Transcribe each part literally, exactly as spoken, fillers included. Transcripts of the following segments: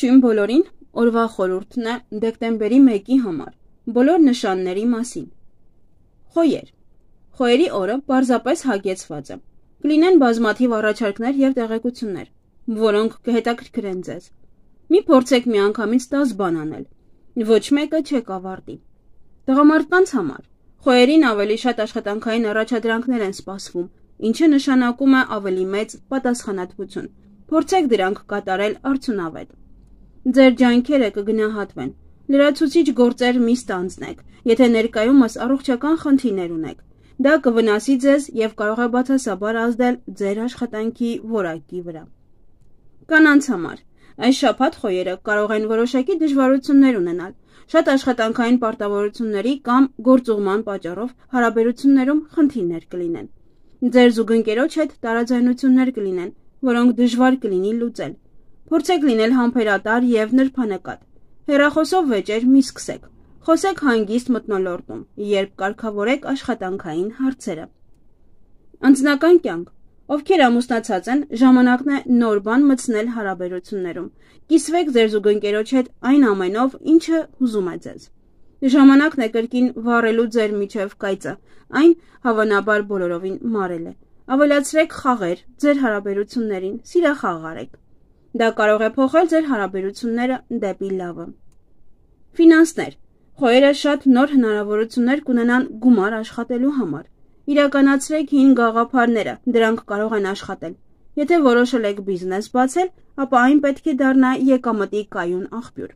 Ողջույն բոլորին, օրվա խորհուրդն է դեկտեմբերի մեկի համար, բոլոր նշանների մասին։ Խոյեր։ Խոյերի օրը պարզապես հագեցված է։ Կլինեն բազմաթիվ առաջարկներ և տեղեկություններ, որոնք կհետաքրքրեն ձեզ։ Մի փորձեք միանգամից տաս բան անել, ոչ մեկը չեք ավարտի։ Տղամարդկանց համար խոյերին ավելի շատ աշխատանքային առաջադրանքներ են սպասվում, ինչը նշանակում է ավելի մեծ պատասխանատվություն։ Փորձեք դրանք կատարել արդյունավետ։ Ձեր ջանքերը կգնահատվեն։ Լրացուցիչ գործեր մի ստանձնեք, եթե ներկայումս առողջական խնդիրներ ունեք։ Դա կվնասի ձեզ և կարող է բացասաբար ազդել ձեր աշխատանքի որակի վրա։ Կանանց համար այս շաբաթ խոյերը կարող են որոշակի դժվարություններ ունենալ, շատ աշխատանքային պարտավորությունների կամ գործուղման պատճառով հարաբերություններում խնդիրներ կլինեն։ Ձեր զուգընկերոջ հետ տարաձայնություններ կլինեն, որոնք դժվար կլինի լուծել։ Փորձեք լինել համբերատար և նրբանկատ։ Հեռախոսով վեճեր մի սկսեք։ Խոսեք հանգիստ մթնոլորտում, երբ կարգավորեք աշխատանքային հարցերը։ Անձնական կյանք։ Ովքեր ամուսնացած են, ժամանակն է նոր բան մտցնել հարաբերություններում։ Կիսվեք ձեր զուգընկերոջ հետ այն ամենով, ինչը հուզում է ձեզ։ Ժամանակն է կրկին վառելու ձեր միջև կայծը, այն հավանաբար բոլորովին մարել է։ Ավելացրեք խաղեր ձեր հարաբերություններին, սիրախաղ արեք։ Դա կարող է փոխել ձեր հարաբերությունները դեպի լավը։ Ֆինանսներ։ Խոյերը շատ նոր հնարավորություններ կունենան գումար աշխատելու համար։ Իրականացրեք հին գաղափարները, դրանք կարող են աշխատել։ Եթե որոշել եք բիզնես բացել, ապա այն պետք է դառնա եկամտի կայուն աղբյուր։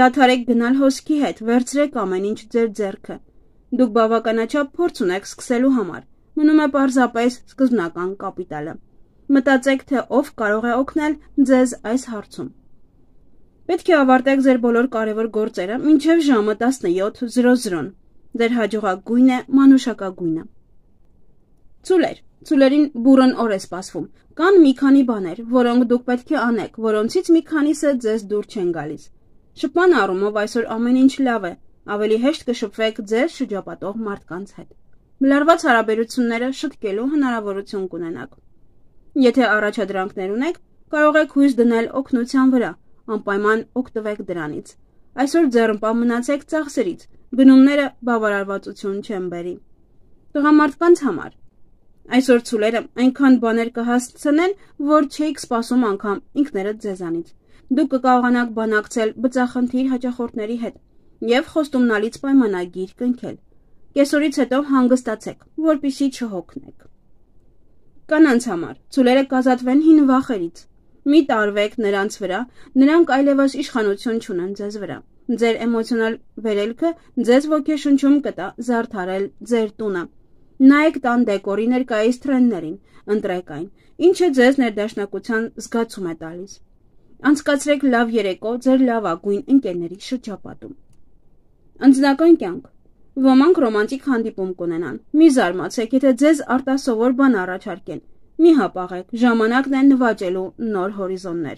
Դադարեք գնալ հոսքի հետ, վերցրեք ամեն ինչ ձեր ձեռքը։ Դուք բավականաչափ փորձ ունեք սկսելու համար։ Մնում է պարզապես սկզբնական կապիտալը։ Մտածեք, թե ով կարող է օգնել ձեզ այս հարցում։ Պետք է ավարտեք ձեր բոլոր կարևոր գործերը մինչև ժամը տասնյոթ։ Ձեր հաջողակ գույնը մանուշակագույնը։ Ցուլեր։ Ցուլերին բուռն օր է սպասվում։ Կան մի քանի բաներ, որոնք դուք պետք է անեք, որոնցից մի քանիսը ձեզ դուր չեն գալիս։ Շփման առումով այսօր ամեն ինչ լավ է, ավելի հեշտ կշփվեք ձեր շրջապատող մարդկանց հետ։ Մլարված հարաբերությունները շտկելու հնարավորություն կունենաք։ Եթե առաջադրանքներ ունեք, կարող եք հույս դնել օգնության վրա, անպայման օգտվեք դրանից։ Այսօր ձեռնպա մնացեք ծախսերից, գնումները բավարարվածություն չեն բերի։ Տղամարդկանց համար այսօր ցուլերը այնքան բաներ կհասցնեն, որ չէիք սպասում անգամ ինքներդ ձեզանից։ Դուք կկարողանաք բանակցել բծախնդիր հաճախորդների հետ և խոստումնալից պայմանագիր կնքել։ Կեսօրից հետո հանգստացեք, որպեսզի չհոգնեք։ Կանանց համար ցուլերը կազատվեն հին վախերից։ Մի տարվեք նրանց վրա, նրանք այլևս իշխանություն չունեն ձեզ վրա։ Ձեր էմոցիոնալ վերելքը ձեզ ոգեշնչում կտա զարդարել ձեր տունը։ Նայեք տան դեկորի ներկայիս թրենդներին, ընտրեք այն, ինչը ձեզ ներդաշնակության զգացում է տալիս։ Անցկացրեք լավ երեկո ձեր լավագույն ընկերների շրջապատում։ Անձնական կյանք։ Ոմանք ռոմանտիկ հանդիպում կունենան։ Մի զարմացեք, եթե ձեզ արտասովոր բան առաջարկեն։ Մի հապաղեք, ժամանակն է նվաճելու նոր հորիզոններ։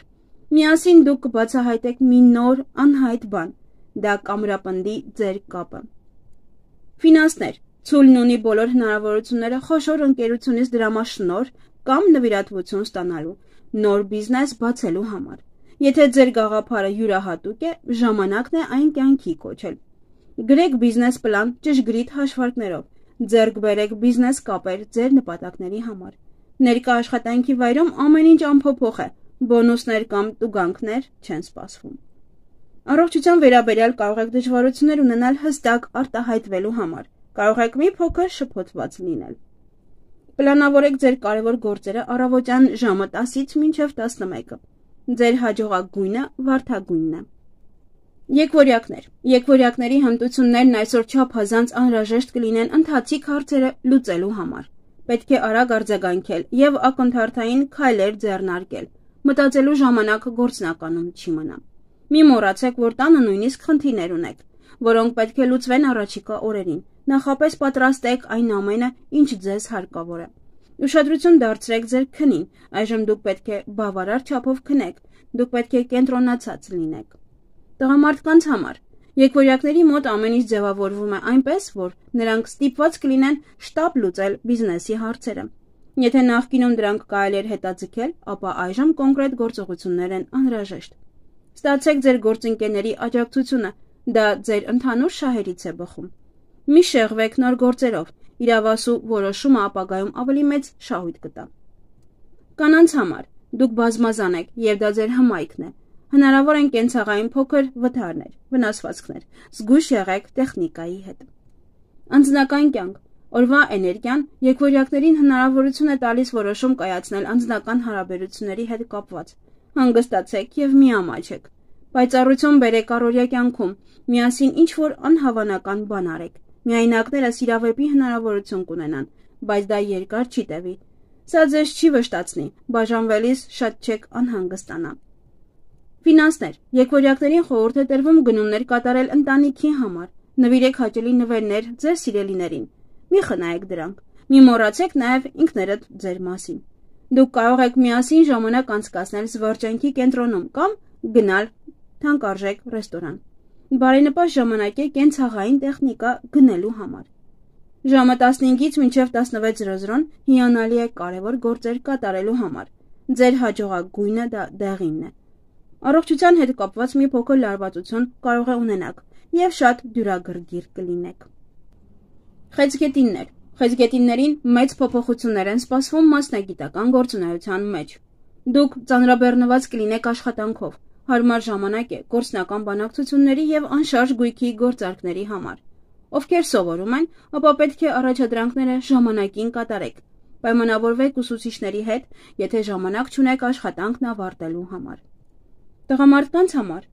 Միասին դուք կբացահայտեք մի նոր, անհայտ բան։ Դա կամրապնդի ձեր կապը։ Ֆինանսներ։ Ցուլն ունի բոլոր հնարավորությունները խոշոր ընկերությունից դրամաշնորհ կամ նվիրատվություն ստանալու, նոր բիզնես բացելու համար։ Եթե ձեր գաղափարը յուրահատուկ է, ժամանակն է այն կյանքի կոչել։ Գրեք բիզնես պլան ճշգրիտ հաշվարկներով, ձեռք բերեք բիզնես կապեր ձեր նպատակների համար։ Ներկա աշխատանքի վայրում ամեն ինչ անփոփոխ է, բոնուսներ կամ տուգանքներ չեն սպասվում։ Առողջության վերաբերյալ կարող եք դժվարություններ ունենալ հստակ արտահայտվելու համար, կարող եք մի փոքր շփոթված լինել։ Պլանավորեք ձեր կարևոր գործերը առավոտյան ժամը տասից մինչև տասնմեկը։ Ձեր հաջողակ գույնը վարդագույնն է։ Եկվորյակներ։ Եկվորյակների հմտություններն այսօր չափազանց անհրաժեշտ կլինեն ընթացիկ հարցերը լուծելու համար։ Պետք է արագ արձագանքել և ակնթարթային քայլեր ձեռնարկել։ Մտածելու ժամանակ գործնականում չի մնա։ Մի մոռացեք, որ տանը նույնիսկ խնդիրներ ունեք, որոնք պետք է լուծվեն առաջիկա օրերին։ Նախապես պատրաստեք այն ամենը, ինչ ձեզ հարկավոր է։ Ուշադրություն դարձրեք ձեր քնին, այժմ դուք պետք է բավարար չափով քնեք, դուք պետք է կենտրոնացած լինեք։ Տղամարդկանց համար եկվորյակների մոտ ամեն ինչ ձևավորվում է այնպես, որ նրանք ստիպված կլինեն շտապ լուծել բիզնեսի հարցերը։ Եթե նախկինում դրանք կարելի էր հետաձգել, ապա այժմ կոնկրետ գործողություններ են անհրաժեշտ։ Ստացեք ձեր գործընկերների աջակցությունը, դա ձեր ընդհանուր շահերից է բխում։ Մի շեղվեք նոր գործերով, իրավասու որոշումը ապագայում ավելի մեծ շահույթ կտա։ Կանանց համար դուք բազմազան եք, եւ դա ձեր հմայքն է։ Հնարավոր են կենցաղային փոքր վթարներ, վնասվածքներ, զգույշ եղեք տեխնիկայի հետ։ Անձնական կյանք, օրվա էներգիան եկվորյակներին հնարավորություն է տալիս որոշում կայացնել անձնական հարաբերությունների հետ կապված։ Հանգստացեք եւ միամաչեք։ Պայծառություն բերեք առօրյա կյանքում, միասին ինչ-որ անհավանական բան արեք։ Միայնակները սիրավեպի հնարավորություն կունենան, բայց դա երկար չի տևի։ Սա ձեզ չի վշտացնի, բաժանվելիս շատ չեք անհանգստանա։ Ֆինանսներ, եկվորյակներին խորհուրդ է տրվում գնումներ կատարել ընտանիքի համար։ Նվիրեք հաճելի նվերներ ձեր սիրելիներին։ Մի խնայեք դրանք։ Մի մոռացեք նաև ինքներդ ձեր մասին։ Դուք կարող եք միասին ժամանակ անցկացնել զվարճանքի կենտրոնում կամ գնալ թանկարժեք ռեստորան։ Բարենպաստ ժամանակ է կենցաղային տեխնիկա գնելու համար։ Ժամը տասնհինգից մինչև տասնվեց զրոզրոն հիանալի է կարևոր գործեր կատարելու համար։ Ձեր հաջողակ գույնը դա դեղինն է։ Առողջության հետ կապված մի փոքր լարվածություն կարող է ունենաք եւ շատ դյուրագրգիռ կլինեք։ Խեցգետիններ։ Խեցգետիններին մեծ փոփոխություններ են սպասվում մասնագիտական գործունեության մեջ։ Դուք ծանրաբեռնված կլինեք աշխատանքով, հարմար ժամանակ է գործնական բանակցությունների եւ անշարժ գույքի գործարքների համար։ Ովքեր սովորում են, ապա պետք է առաջադրանքները ժամանակին կատարեք։ Պայմանավորվեք ուսուցիչների հետ, եթե ժամանակ չունեք աշխատանքն ավարտելու համար։ Տղամարդկանց համար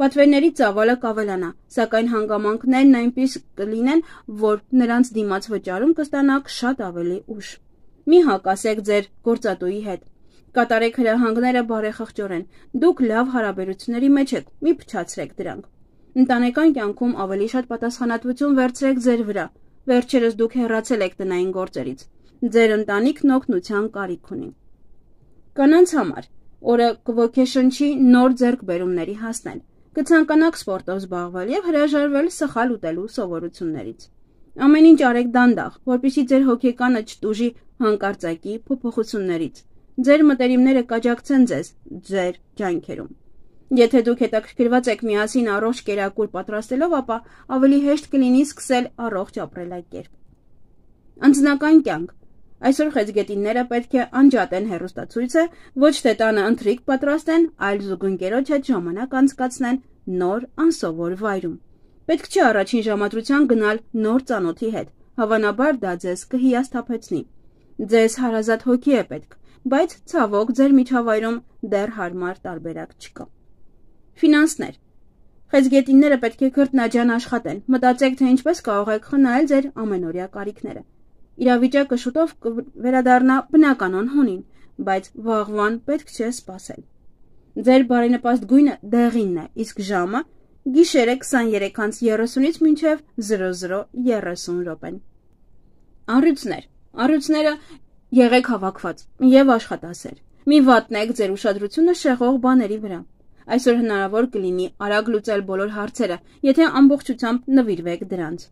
պատվերների ծավալը կավելանա, սակայն հանգամանքներն այնպես կլինեն, որ նրանց դիմաց վճարում կստանաք շատ ավելի ուշ։ Մի հակասեք ձեր գործատուի հետ։ Կատարեք հրահանգները բարեխղճորեն։ Դուք լավ հարաբերությունների մեջ եք, մի փչացրեք դրանք։ Ընտանեկան կյանքում ավելի շատ պատասխանատվություն վերցրեք ձեր վրա։ Վերջերս դուք հեռացել եք տնային գործերից։ Ձեր ընտանիքն օգնության կարիք ունի։ Կանանց համար օրը կոգեշնչի նոր ձեռքբերումների հասնել։ Կցանկանաք սպորտով զբաղվել եւ հրաժարվել սխալ ուտելու սովորություններից։ Ամեն ինչ արեք դանդաղ, որպեսզի ձեր հոգեկանը չտուժի հանկարծակի փոփոխություններից։ Ձեր մտերիմները կաջակցեն ձեզ ձեր ջանքերում։ Եթե դուք հետաքրքրված եք միասին առողջ կերակուր պատրաստելով, ապա ավելի հեշտ կլինի սկսել առողջ ապրելակերպ։ Անձնական կյանք։ Այսօր խեցգետինները պետք է անջատեն հեռուստացույցը, ոչ թե տանը ընթրիք պատրաստեն, այլ զուգընկերոջ հետ ժամանակ անցկացնեն նոր անսովոր վայրում։ Պետք չէ առաջին ժամադրության գնալ նոր ծանոթի հետ, հավանաբար դա ձեզ կհիասթափեցնի։ Ձեզ հարազատ հոգի է պետք, բայց ցավոք ձեր միջավայրում դեռ հարմար տարբերակ չկա։ Ֆինանսներ։ Խեցգետինները պետք է քրտնաջան աշխատեն, մտածեք, թե ինչպես կարող եք խնայել ձեր ամենօրյա կարիքները։ Իրավիճակը շուտով կվերադառնա բնականon հունին, բայց վաղվան պետք չէ սպասել։ Ձեր բարենպաստ գույնը դեղինն է, իսկ ժամը գիշերը քսաներեքից երեսունից մինչև զրո զրո երեսուն րոպեն։ Առյուծներ։ Առյուծները եղեք հավաքված եւ աշխատասեր։ Մի վատնեք ձեր ուշադրությունը շեղող բաների վրա։ Այսօր հնարավոր կլինի արագ լուծել բոլոր հարցերը, եթե ամբողջությամբ նվիրվեք դրանց։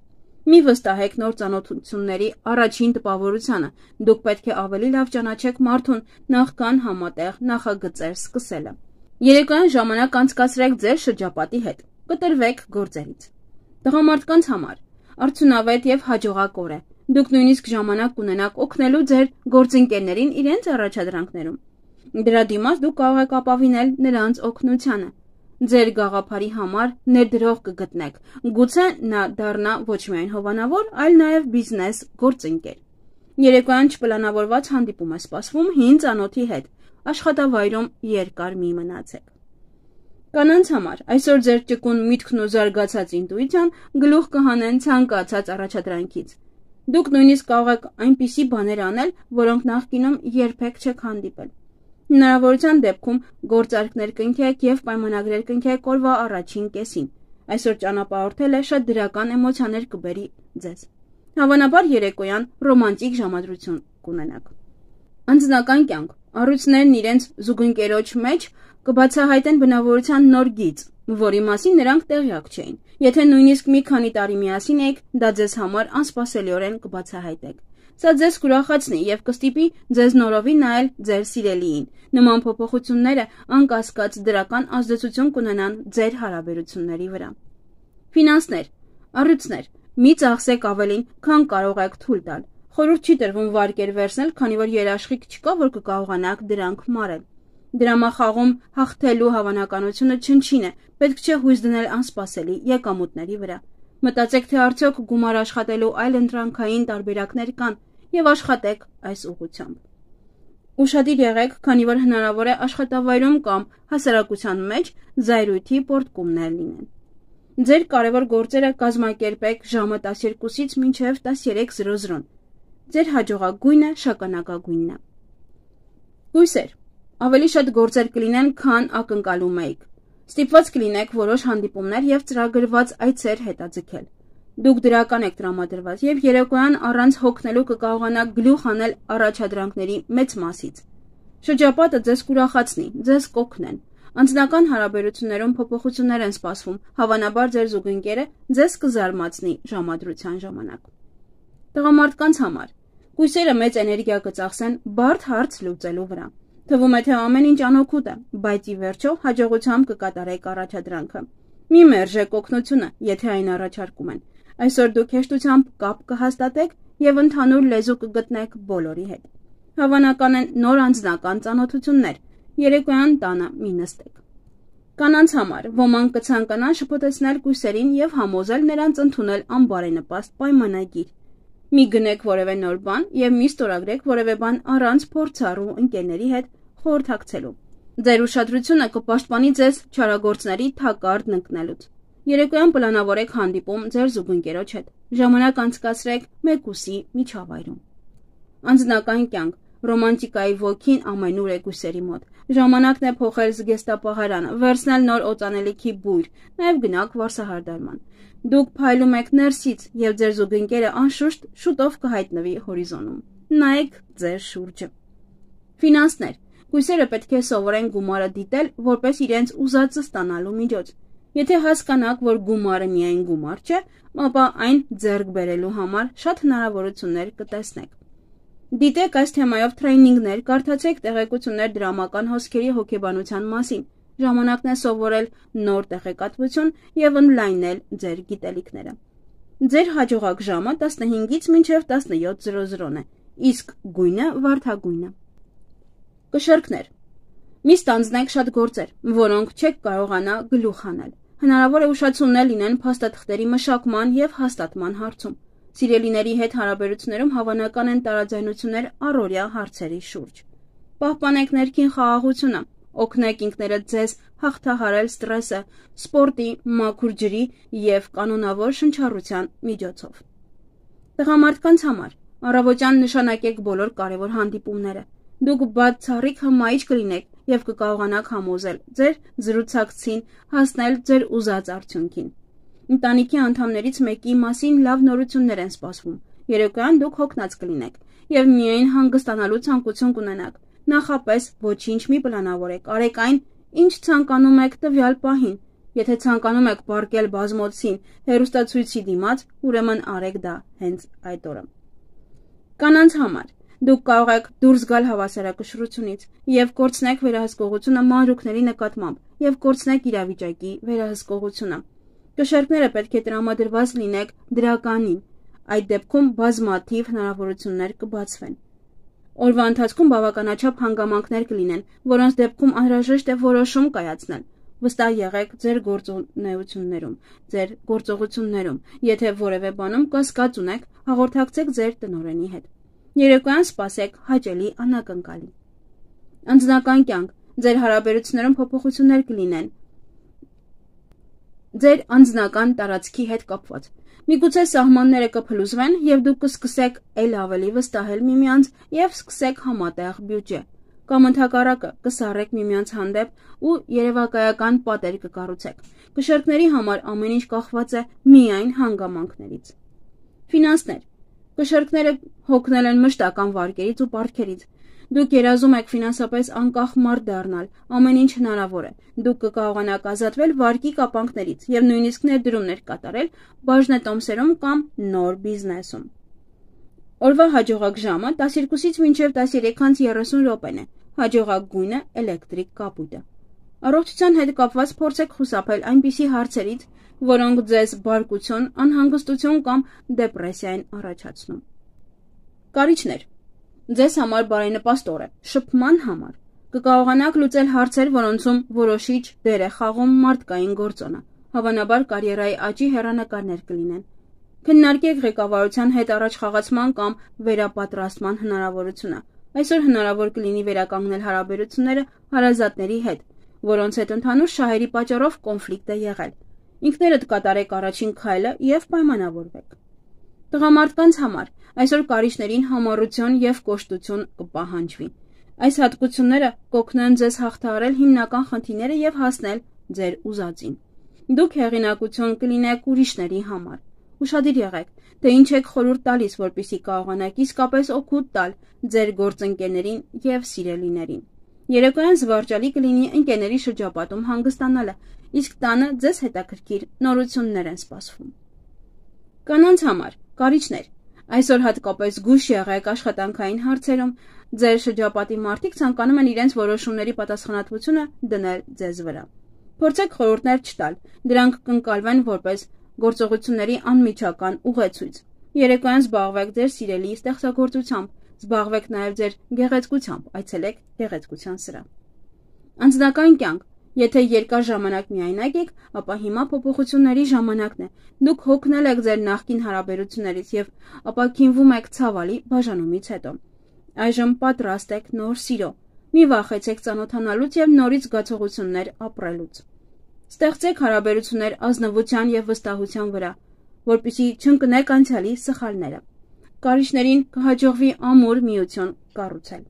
Մի վստահեք նոր ծանոթությունների առաջին տպավորությանը։ Դուք պետք է ավելի լավ ճանաչեք մարդուն, նախքան համատեղ նախագծեր սկսելը։ Երեկոյան ժամանակ անցկացրեք ձեր շրջապատի հետ։ Կտրվեք գործերից։ Տղամարդկանց համար արդյունավետ եւ հաջողակ օր է։ Դուք նույնիսկ ժամանակ կունենաք օգնելու ձեր գործընկերներին իրենց առաջադրանքներում։ Դրա դիմաց դուք կարող եք ապավինել նրանց օգնությանը։ Ձեր գաղափարի համար ներդրող կգտնեք։ Գուցե նա դառնա ոչ միայն հովանավոր, այլ նաև բիզնես գործընկեր։ Երեկոյան չպլանավորված հանդիպում է սպասվում հին ծանոթի հետ։ Աշխատավայրում երկար մի մնացեք։ Կանանց համար այսօր ձեր ճկուն միտքն ու զարգացած ինտուիցիան գլուխ կհանեն ցանկացած առաջադրանքից։ Դուք նույնիսկ կարող եք այնպիսի բաներ անել, որոնք նախկինում երբեք չեք հանդիպել։ Հնարավորության դեպքում գործարքներ կնքեք եւ պայմանագրեր կնքեք օրվա առաջին կեսին։ Այսօր ճանապարհորդելը շատ դրական էմոցիաներ կբերի ձեզ։ Հավանաբար երեկոյան ռոմանտիկ ժամադրություն կունենաք։ Անձնական կյանք։ Առյուծներն իրենց զուգընկերոջ մեջ կբացահայտեն բնավորության նոր գիծ, որի մասին նրանք տեղյակ չէին։ Եթե նույնիսկ մի քանի տարի միասին եք, դա ձեզ համար անսպասելիորեն կբացահայտեք։ Սա ձեզ կուրախացնի եւ կստիպի ձեզ նորովի նայել ձեր սիրելիին։ Նման փոփոխությունները անկասկած դրական ազդեցություն կունենան ձեր հարաբերությունների վրա։ Ֆինանսներ, առյուծներ, մի ծախսեք ավելին, քան կարող եք թույլ տալ։ Խորհուրդ չի տրվում վարկեր վերցնել, քանի որ երաշխիք չկա, որ կկարողանաք դրանք մարել։ Դրամախաղում հաղթելու հավանականությունը չնչին է, պետք չէ հույս դնել անսպասելի եկամուտների վրա։ Մտածեք, թե արդյոք գումար աշխատելու այլ ընտրանքային տարբերակներ կան եւ աշխատեք այս ուղղությամբ։ Ուշադիր եղեք, քանի որ հնարավոր է աշխատավայրում կամ հասարակության մեջ զայրույթի պոռթկումներ լինեն։ Ձեր կարևոր գործերը կազմակերպեք ժամը տասներկուսից մինչև տասներեք զրո զրո։ Ձեր հաջողագույնը շագանակագույնն է։ Հույսեր, ավելի շատ գործեր կլինեն, քան ակնկալում էիք։ Ստիպված կլինեք որոշ հանդիպումներ եւ ծրագրված այցեր հետաձգել։ Դուք դրական եք տրամադրված եւ երեկոյան առանց հոգնելու կկարողանաք գլուխ անել առաջադրանքների մեծ մասից։ Շրջապատը ձեզ կուրախացնի, ձեզ կօգնեն։ Անձնական հարաբերություններում փոփոխություններ են սպասվում, հավանաբար ձեր զուգընկերը ձեզ կզարմացնի ժամադրության ժամանակ։ Տղամարդկանց համար կույսերը մեծ էներգիա կծախսեն բարդ հարց լուծելու վրա։ Թվում է, թե ամեն ինչ անօգուտ է, բայց ի վերջո հաջողությամբ կկատարեք առաջադրանքը։ Մի մերժեք օգնությունը, եթե այն առաջարկում են։ Այսօր դուք հեշտությամբ կապ կհաստատեք եւ ընդհանուր լեզու կգտնեք բոլորի հետ։ Հավանական են նոր անձնական ծանոթություններ։ Երեկոյան տանը մի նստեք։ Կանանց համար ոմանք կցանկանան շփոթեցնել կույսերին եւ համոզել նրանց ընդունել անբարենպաստ պայմանագիր։ Մի գնեք որևէ նոր բան եւ մի ստորագրեք որևէ բան առանց փորձառու ընկերների հետ խորհրդակցելու։ Ձեր ուշադրությունը կպաշտպանի ձեզ չարագործների թակարդ ընկնելուց։ Երեկոյան պլանավորեք հանդիպում ձեր զուգընկերոջ հետ։ Ժամանակ անցկացրեք մեկուսի միջավայրում։ Անձնական կյանք, ռոմանտիկայի ոգին ամենուր է կույսերի մոտ։ Ժամանակն է փոխել զգեստապահարանը, վերցնել նոր օծանելիքի բույր, նաեւ գնաք վարսահարդարման։ Դուք փայլում եք ներսից եւ ձեր զուգընկերը անշուշտ շուտով կհայտնվի հորիզոնում։ Նայեք ձեր շուրջը։ Ֆինանսներ, կույսերը պետք է սովորեն գումարը դիտել որպես իրենց ուզածը ստանալու միջոց։ Եթե հասկանաք, որ գումարը միայն գումար չէ, ապա այն ձեռք բերելու համար շատ հնարավորություններ կտեսնեք։ Դիտեք այս թեմայով թրեյնինգներ, կարդացեք տեղեկություններ դրամական հոսքերի հոգեբանության մասին։ Ժամանակն է սովորել նոր տեղեկատվություն եւ օնլայնել ձեր գիտելիքները։ Ձեր հաջողակ ժամը տասնհինգից մինչև տասնյոթ զրո զրոն է, իսկ գույնը վարդագույնը։ Կշեռքներ։ Մի ստանձնեք շատ գործեր, որոնք չեք կարողանա գլուխ անել։ Հնարավոր է ուշացումներ լինեն փաստաթղթերի մշակման եւ հաստատման հարցում։ Սիրելիների հետ հարաբերություններում հավանական են տարաձայնություններ առօրյա հարցերի շուրջ։ Պահպանեք ներքին խաղաղությունը, օգնեք ինքներդ ձեզ հաղթահարել ստրեսը սպորտի, մաքուր ջրի եւ կանոնավոր շնչառության միջոցով։ Տղամարդկանց համար առավոտյան նշանակեք բոլոր կարևոր հանդիպումները։ Դուք բացառիկ հմայիչ կլինեք եւ կկարողանաք համոզել ձեր զրուցակցին հասնել ձեր ուզած արդյունքին։ Ընտանիքի անդամներից մեկի մասին լավ նորություններ են սպասվում։ Երեկոյան դուք հոգնած կլինեք եւ միայն հանգստանալու ցանկություն կունենաք։ Նախապես ոչինչ մի պլանավորեք, արեք այն, ինչ ցանկանում եք տվյալ պահին։ Եթե ցանկանում եք պարկել բազմոցին հեռուստացույցի դիմաց, ուրեմն արեք դա հենց այդ օրը։ Կանանց համար դուք կարող եք դուրս գալ հավասարակշռությունից եւ կորցնեք վերահսկողությունը մանրուքների նկատմամբ եւ կորցնեք իրավիճակի վերահսկողությունը։ Կշեռքները պետք է տրամադրված լինեք դրականին։ Այդ դեպքում բազմաթիվ հնարավորություններ կբացվեն։ Օրվա ընթացքում բավականաչափ հանգամանքներ կլինեն, որոնց դեպքում անհրաժեշտ է որոշում կայացնել։ Վստահ եղեք ձեր գործունեություններում, ձեր գործողություններում։ Եթե որևէ բանում կասկած ունեք, հաղորդակցեք ձեր տնօրենի հետ։ Երեկոյան սպասեք հաճելի անակնկալի։ Անձնական կյանք, ձեր հարաբերություններում փոփոխություններ կլինեն ձեր անձնական տարածքի հետ կապված։ Միգուցե սահմանները կփլուզվեն եւ դուք կսկսեք ել ավելի վստահել միմյանց եւ սկսեք համատեղ բյուջե։ Կամ ընդհակառակը կսառեք միմյանց հանդեպ ու երևակայական պատեր կկառուցեք։ Կշեռքների համար ամեն ինչ կախված է միայն հանգամանքներից։ Ֆինանսներ։ Կշեռքները հոգնել են մշտական վարկերից ու պարտքերից։ Դուք երազում եք ֆինանսապես անկախ մարդ դառնալ, ամեն ինչ հնարավոր է։ Դուք կկարողանաք ազատվել վարկի կապանքներից եւ նույնիսկ ներդրումներ կատարել բաժնետոմսերում կամ նոր բիզնեսում։ Օրվա հաջողակ ժամը տասներկուսից մինչև տասներեք անց երեսուն րոպեն է, հաջողակ գույնը էլեկտրիկ կապույտը։ Առողջության հետ կապված փորձեք խուսափել այնպիսի հարցերից, որոնք ձեզ բարկություն, անհանգստություն կամ դեպրեսիա են առաջացնում։ Կարիճներ։ Ձեզ համար բարենպաստ օր է, շփման համար։ Կկարողանաք լուծել հարցեր, որոնցում որոշիչ դեր է խաղում մարդկային գործոնը, հավանաբար կարիերայի աճի հեռանկարներ կլինեն։ Քննարկեք ղեկավարության հետ առաջխաղացման կամ վերապատրաստման հնարավորությունը։ Այսօր հնարավոր կլինի վերականգնել հարաբերությունները հարազատների հետ, որոնց հետ ընդհանուր շահերի պատճառով կոնֆլիկտ է եղել։ Ինքներդ կատարեք առաջին քայլը և պայմանավորվեք։ Տղամարդկանց համար այսօր կարիճներին համառություն և կոշտություն կպահանջվի։ Այս հատկությունները կօգնեն ձեզ հաղթահարել հիմնական խնդիրները և հասնել ձեր ուզածին։ Դուք հեղինակություն կլինեք ուրիշների համար։ Ուշադիր եղեք, թե ինչ եք խորհուրդ տալիս, որպեսզի կարողանաք իսկապես օգուտ տալ ձեր գործընկերներին և սիրելիներին։ Երեկոյան զվարճալի կլինի ընկերների շրջապատում հանգստանալը, իսկ տանը ձեզ հետաքրքիր նորություններ են սպասվում։ Կանանց համար կարիճներ։ Այսօր հատկապես զգույշ եղեք աշխատանքային հարցերում, ձեր շրջապատի մարդիկ ցանկանում են իրենց որոշումների պատասխանատվությունը դնել ձեզ վրա։ Փորձեք խորհուրդներ չտալ, դրանք կընկալվեն որպես գործողությունների անմիջական ուղեցույց։ Երեկոյան զբաղվեք ձեր սիրելի ստեղծագործությամբ, զբաղվեք նաև ձեր գեղեցկությամբ, այցելեք գեղեցկության սրահ։ Անձնական կյանք։ Եթե երկար ժամանակ միայնակ եք, ապա հիմա փոփոխությունների ժամանակն է։ Դուք հոգնել եք ձեր նախկին հարաբերություններից և ապաքինվում եք ցավալի բաժանումից հետո։ Այժմ պատրաստ եք նոր սիրո։ Մի վախեցեք ծանոթանալուց և նորից զգացողություններ ապրելուց։ Ստեղծեք հարաբերություններ ազնվության և վստահության վրա, որպեսզի չընկնեք անցյալի սխալները։ Կարիճներին կհաջողվի ամուր միություն կառուցել։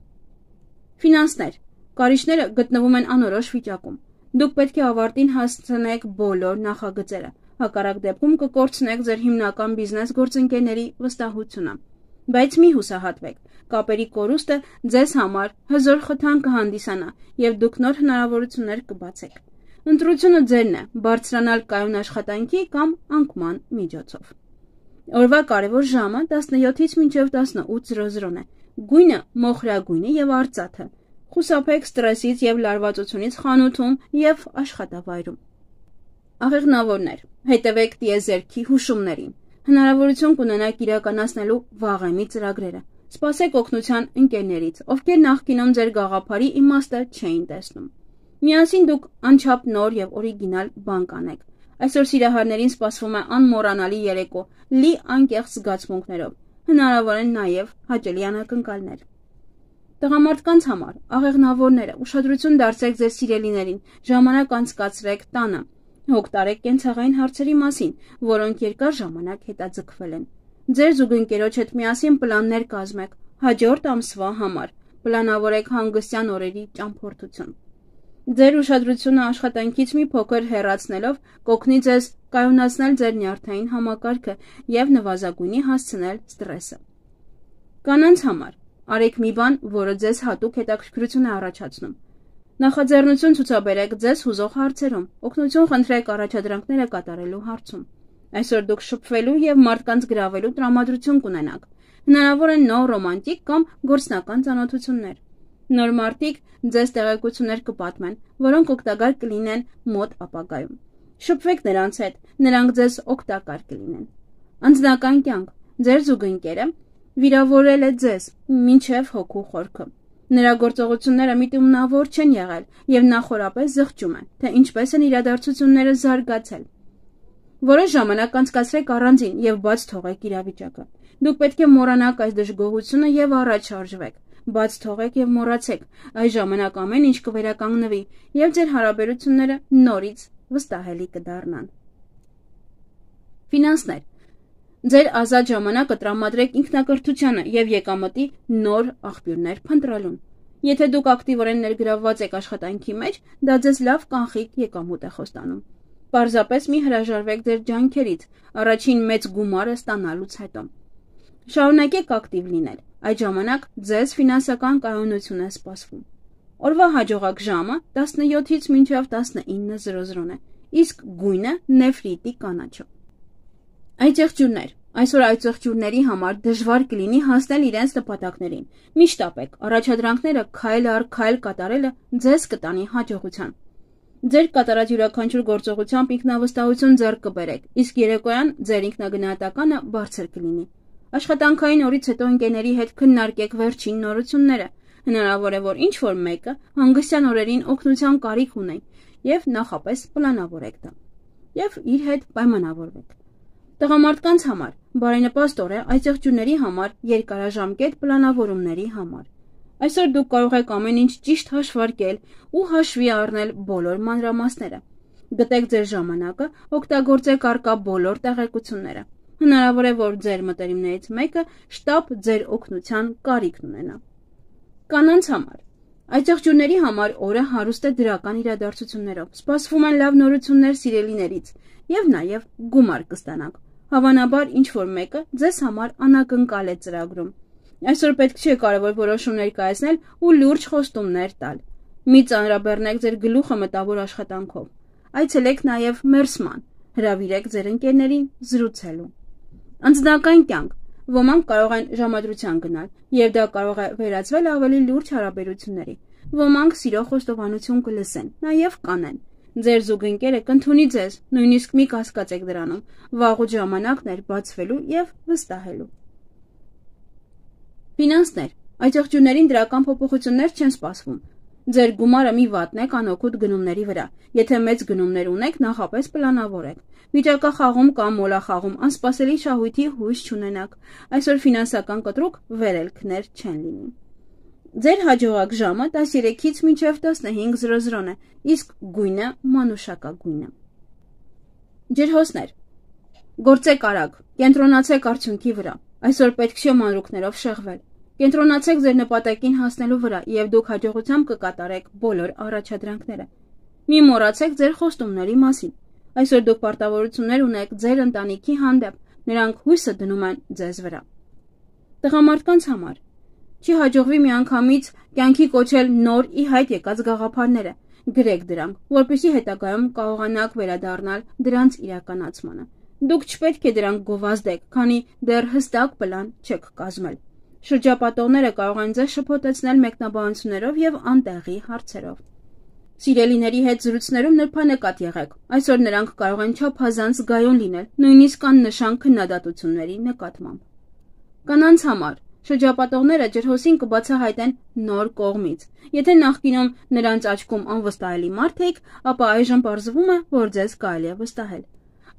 Ֆինանսներ։ Կարիճները գտնվում են անորոշ վիճակում։ Դուք պետք է ավարտին հասցնեք բոլոր նախագծերը, հակառակ դեպքում կկորցնեք ձեր հիմնական բիզնես գործընկերների վստահությունը։ Բայց մի հուսահատվեք, կապերի կորուստը ձեզ համար հզոր խթան կհանդիսանա և դուք նոր հնարավորություններ կբացեք։ Ընտրությունը ձերն է՝ բարձրանալ կայուն աշխատանքի կամ անկման միջոցով։ Օրվա կարևոր ժամը տասնյոթից մինչև տասնութ է։ Գույնը մոխրագույն է և արծաթը։ Խուսափեք ստրեսից և լարվածությունից խանութում և աշխատավայրում։ Աղեղնավորներ։ Հետևեք տիեզերքի հուշումներին։ Հնարավորություն կունենաք իրականացնելու վաղեմի ծրագրերը։ Սպասեք օգնության ընկերներից, ովքեր նախկինում ձեր գաղափարի իմաստը չէին տեսնում։ Միասին դուք անչափ նոր և օրիգինալ բան կանեք։ Այսօր սիրահարներին սպասվում է անմոռանալի երեկո, լի անկեղծ զգացմունքներով։ Հնարավոր են նաև հաճելի անակնկալներ։ Տղամարդկանց համար աղեղնավորները, ուշադրություն դարձրեք ձեր սիրելիներին, ժամանակ անցկացրեք տանը, հոգ տարեք կենցաղային հարցերի մասին, որոնք երկար ժամանակ հետաձգվել են։ Ձեր զուգընկերոջ հետ միասին պլաններ կազմեք հաջորդ ամսվա համար, պլանավորեք հանգստյան օրերի ճամփորդություն։ Ձեր ուշադրությունը աշխատանքից մի փոքր հեռացնելով կօգնի ձեզ կայունացնել ձեր նյարդային համակարգը և նվազագույնի հասցնել ստրեսը։ Կանանց համար արեք մի բան, որը ձեզ հատուկ հետաքրքրություն է առաջացնում։ Նախաձեռնություն ցուցաբերեք ձեզ հուզող հարցերում, օգնություն խնդրեք առաջադրանքները կատարելու հարցում։ Այսօր դուք շփվելու և մարդկանց գրավելու տրամադրություն կունենաք։ Հնարավոր են նոր ռոմանտիկ կամ գործնական ծանոթություններ։ Նոր մարդիկ ձեզ տեղեկություններ կպատմեն, որոնք օգտակար կլինեն մոտ ապագայում։ Շփվեք նրանց հետ, նրանք ձեզ օգտակար կլինեն։ Անձնական կյանք։ Ձեր զուգընկերը վիրավորել է ձեզ մինչև հոգու խորքը։ Նրա գործողությունները միտումնավոր չեն եղել և նա խորապես զղջում է, թե ինչպես են իրադարձությունները զարգացել։ Որոշ ժամանակ անցկացրեք առանձին և բաց թողեք իրավիճակը։ Դուք պետք է մոռանաք այս դժգոհությունը և առաջ շարժվեք։ Բաց թողեք և մոռացեք։ Այս ժամանակ ամեն ինչ կվերականգնվի և ձեր հարաբերությունները նորից վստահելի կդառնան։ Ֆինանսներ։ Ձեր ազատ ժամանակը տրամադրեք ինքնակրթությանը և եկամտի նոր աղբյուրներ փնտրելուն։ Եթե դուք ակտիվորեն ներգրավված եք աշխատանքի մեջ, դա ձեզ լավ կանխիկ եկամուտ է խոստանում։ Պարզապես մի հրաժարվեք ձեր ջանքերից առաջին մեծ գումարը ստանալուց հետո։ Շարունակեք ակտիվ լինել, այդ ժամանակ ձեզ ֆինանսական կայունություն է սպասվում։ Օրվա հաջողակ ժամը տասնյոթից մինչև տասնինը է, իսկ գույնը նեֆրիտի կանաչը։ Այդ եղջյուրներ, Այսօր այծեղջյուրների համար դժվար կլինի հասնել իրենց նպատակներին։ Մի շտապեք, առաջադրանքները քայլ առ քայլ կատարելը ձեզ կտանի հաջողության։ Ձեր կատարած յուրաքանչյուր գործողությամբ ինքնավստահություն ձեռք կբերեք, իսկ երեկոյան ձեր ինքնագնահատականը բարձր կլինի։ Աշխատանքային օրից հետո ընկերների հետ քննարկեք վերջին նորությունները։ Հնարավոր է, որ ինչ-որ մեկը հանգստյան օրերին օգնության կարիք ունի, եւ նախապես պլանավորեք դա։ Եվ իր հետ պայմանավորվեք։ Տղամարդկանց համար բարենպաստ օր է այծեղջյուրների համար երկարաժամկետ պլանավորումների համար։ Այսօր դուք կարող եք ամեն ինչ ճիշտ հաշվարկել ու հաշվի առնել բոլոր մանրամասները։ Գտեք ձեր ժամանակը, օգտագործեք առկա բոլոր տեղեկությունները։ Հնարավոր է, որ ձեր մտերիմներից մեկը շտապ ձեր օգնության կարիքն ունենա։ Կանանց համար այծեղջյուրների համար օրը հարուստ է դրական իրադարձություններով։ Սպասվում են լավ նորություններ սիրելիներից եւ նաեւ գումար կստանաք։ Հավանաբար ինչ-որ մեկը ձեզ համար անակնկալ է ծրագրում։ Այսօր պետք չէ կարևոր որոշումներ կայացնել ու լուրջ խոստումներ տալ։ Մի ծանրաբեռնեք ձեր գլուխը մտավոր աշխատանքով։ Այցելեք նաեւ մերսման, հրավիրեք ձեր ընկերներին զրուցելու։ Անձնական կյանք։ Ոմանք կարող են ժամադրության գնալ, եւ դա կարող է վերածվել ավելի լուրջ հարաբերությունների։ Ոմանք սիրո խոստովանություն կլսեն, նաեւ կանեն։ Ձեր զուգընկերը կընդունի ձեզ, նույնիսկ մի կասկածեք դրանում, վաղուց ժամանակն էր բացվելու եւ վստահելու։ Ֆինանսներ։ Այծեղջյուրներին դրական փոփոխություններ չեն սպասվում։ Ձեր գումարը մի վատնեք անօգուտ գնումների վրա։ Եթե մեծ գնումներ ունեք, նախապես պլանավորեք։ Վիճակախաղում կամ մոլախաղում անսպասելի շահույթի հույս չունենաք։ Այսօր ֆինանսական կտրուկ վերելքներ չեն լինի։ Ձեր հաջողակ ժամը տասներեքից մինչև տասնհինգ զրոզրոն է, իսկ գույնը մանուշակագույնը։ Ջրհոսներ։ Գործեք արագ, կենտրոնացեք արդյունքի վրա։ Այսօր պետք չէ մանրուքներով շեղվել։ Կենտրոնացեք ձեր նպատակին հասնելու վրա եւ դուք հաջողությամբ կկատարեք բոլոր առաջադրանքները։ Մի մոռացեք ձեր խոստումների մասին։ Այսօր դուք պարտավորություններ ունեք ձեր ընտանիքի հանդեպ, նրանք հույսը դնում են ձեզ վրա։ Տղամարդկանց համար չի հաջողվի միանգամից կյանքի կոչել նոր ի հայտ եկած գաղափարները։ Գրեք դրանք, որպեսզի հետագայում կարողանաք վերադառնալ դրանց իրականացմանը։ Դուք չպետք է դրանք գովազդեք, քանի դեռ հստակ պլան չեք կազմել։ Շրջապատողները կարող են ձեզ շփոթեցնել մեկնաբանություններով եւ անտեղի հարցերով։ Սիրելիների հետ զրույցներում նրբանկատ եղեք։ Այսօր նրանք կարող են չափազանց զգայուն լինել, նույնիսկ աննշան քննադատությունների նկատմամբ։ Կանանց համար շրջապատողները ջրհոսին կբացահայտեն նոր կողմից։ Եթե նախկինում նրանց աչքում անվստահելի մարդ եք, ապա այժմ պարզվում է, որ ձեզ կարելի է վստահել։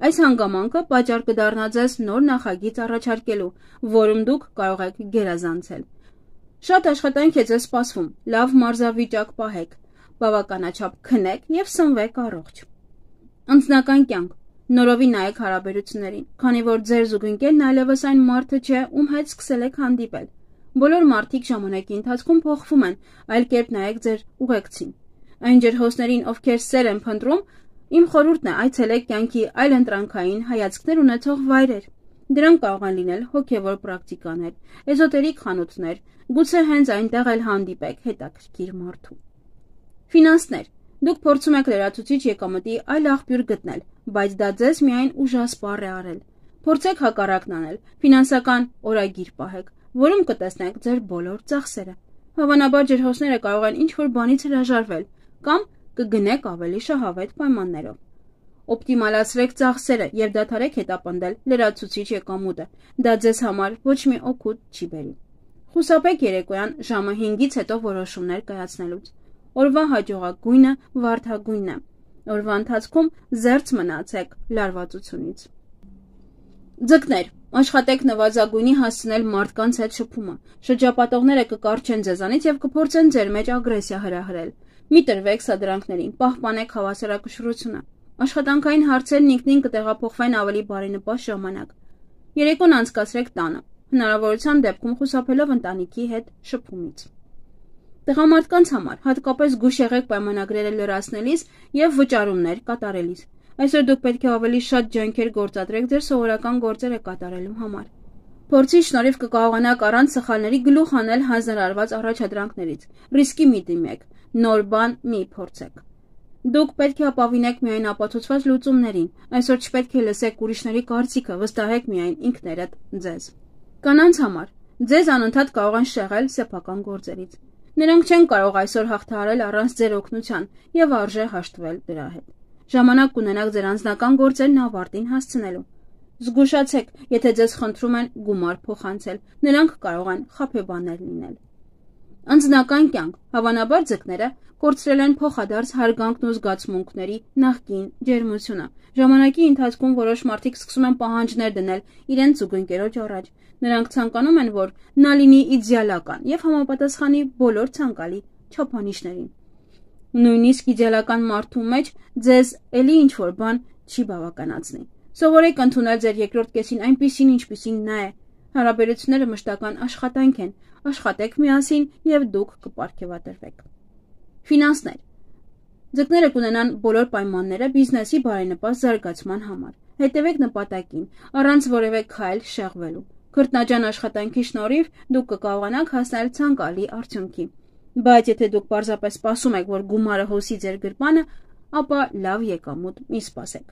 Այս հանգամանքը պատճառ կդառնա ձեզ նոր նախագիծ առաջարկելու, որում դուք կարող եք գերազանցել։ Շատ աշխատանք է ձեզ սպասվում, լավ մարզավիճակ պահեք, բավականաչափ քնեք եւ սնվեք առողջ։ Անձնական կյանք։ Նորովի նայեք հարաբերություններին, քանի որ ձեր զուգընկերն այլևս այն մարդը չէ, ում հետ սկսել եք հանդիպել։ Բոլոր մարդիկ ժամանակի ընթացքում փոխվում են, այլ կերպ նայեք ձեր ուղեկցին։ Այն ջրհոսներին, ովքեր սեր են փնտրում, իմ խորհուրդն է այցելեք կյանքի այլ ընտրանքային հայացքներ ունեցող վայրեր։ Դրանք կարող են լինել հոգևոր պրակտիկաներ, էզոտերիկ խանութներ, գուցե հենց այնտեղ էլ հանդիպեք հետաքրքիր մարդու։ Ֆինանսներ։ Դուք փորձում եք լրացուցիչ եկամտի այլ աղբյուր գտնել, բայց դա ձեզ միայն ուժասպառ է արել։ Փորձեք հակառակն անել, ֆինանսական օրագիր պահեք, որում կտեսնեք ձեր բոլոր ծախսերը։ Հավանաբար ջրհոսները կարող են ինչ-որ բանից հրաժարվել կամ կգնեք ավելի շահավետ պայմաններով։ Օպտիմալացրեք ծախսերը եւ դադարեք հետապնդել լրացուցիչ եկամուտը։ Դա ձեզ համար ոչ մի օգուտ չի բերի։ Խուսափեք երեկոյան ժամը հինգից հետո որոշումներ կայացնելուց։ Օրվա հաջողակ գույնը վարդագույնն է։ Օրվա ընթացքում զերծ մնացեք լարվածությունից։ Ձկներ, աշխատեք նվազագույնի հասցնել մարդկանց հետ շփումը։ Շրջապատողները կկառչեն ձեզանից եւ կփորձեն ձեր մեջ ագրեսիա հրահրել։ Մի տրվեք սադրանքներին, պահպանեք հավասարակշռությունը։ Աշխատանքային հարցերն ինքնին կտեղափոխվեն ավելի բարենպաստ ժամանակ։ Երեկոն անցկացրեք տանը, հնարավորության դեպքում խուսափելով ընտանիքի հետ շփումից։ Տղամարդկանց համար հատկապես զգույշ եղեք պայմանագրերը լրացնելիս եւ վճարումներ կատարելիս։ Այսօր դուք պետք է ավելի շատ ջանքեր գործադրեք ձեր սովորական գործերը կատարելու համար։ Փորձի շնորհիվ կկարողանաք առանց սխալների գլուխ հանել հանձնարարված առաջադրանքներից։ Ռիսկի մի դիմեք, նոր բան մի փորձեք։ Դուք պետք է ապավինեք միայն ապացուցված լուծումներին, այսօր չպետք է լսեք ուրիշների կարծիքը, վստահեք միայն ինքներդ ձեզ։ Կանանց համար ձեզ անընդհատ կարող են շեղել սեփական գործերից։ Նրանք չեն կարող այսօր հաղթահարել առանց ձեր օգնության եւ արժե հաշտվել դրա հետ։ Ժամանակ կունենաք ձեր անձնական գործերն ավարտին հասցնելու։ Զգուշացեք, եթե ձեզ խնդրում են գումար փոխանցել, նրանք կարող են խաբեբաներ լինել։ Անձնական կյանք, հավանաբար ձկները կորցրել են փոխադարձ հարգանքն ու զգացմունքների նախկին ջերմությունը։ Ժամանակի ընթացքում որոշ մարդիկ սկսում են պահանջներ դնել իրենց զուգընկերոջ առաջ։ Նրանք ցանկանում են, որ նա լինի իդեալական եւ համապատասխանի բոլոր ցանկալի չափանիշներին։ Նույնիսկ իդեալական մարդու մեջ ձեզ էլի ինչ-որ բան չի բավականացնի։ Սովորեք ընդունել ձեր երկրորդ կեսին այնպիսին, ինչպիսին նա է։ Հարաբերությունները մշտական աշխատանք են, աշխատեք միասին եւ դուք կպարգևատրվեք։ Ֆինանսներ։ Ձկները կունենան բոլոր պայմանները բիզնեսի բարենպաստ զարգացման համար։ Հետևեք նպատակին, առանց որևէ քայլ շեղվելու։ Քրտնաջան աշխատանքի շնորհիվ դուք կկարողանաք հասնել ցանկալի արդյունքի։ Բայց եթե դուք պարզապես սպասում եք, որ գումարը հոսի ձեր գրպանը, ապա լավ եկամուտ մի սպասեք։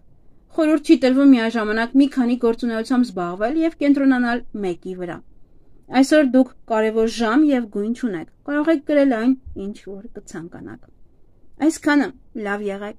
Խորհուրդ չի տրվում միաժամանակ մի քանի գործունեությամբ զբաղվել եւ կենտրոնանալ մեկի վրա։ Այսօր դուք կարևոր ժամ եւ գույն չունեք։ Կարող եք գրել այն, ինչ որ կցանկանաք։ Այսքանը լավ եղեք։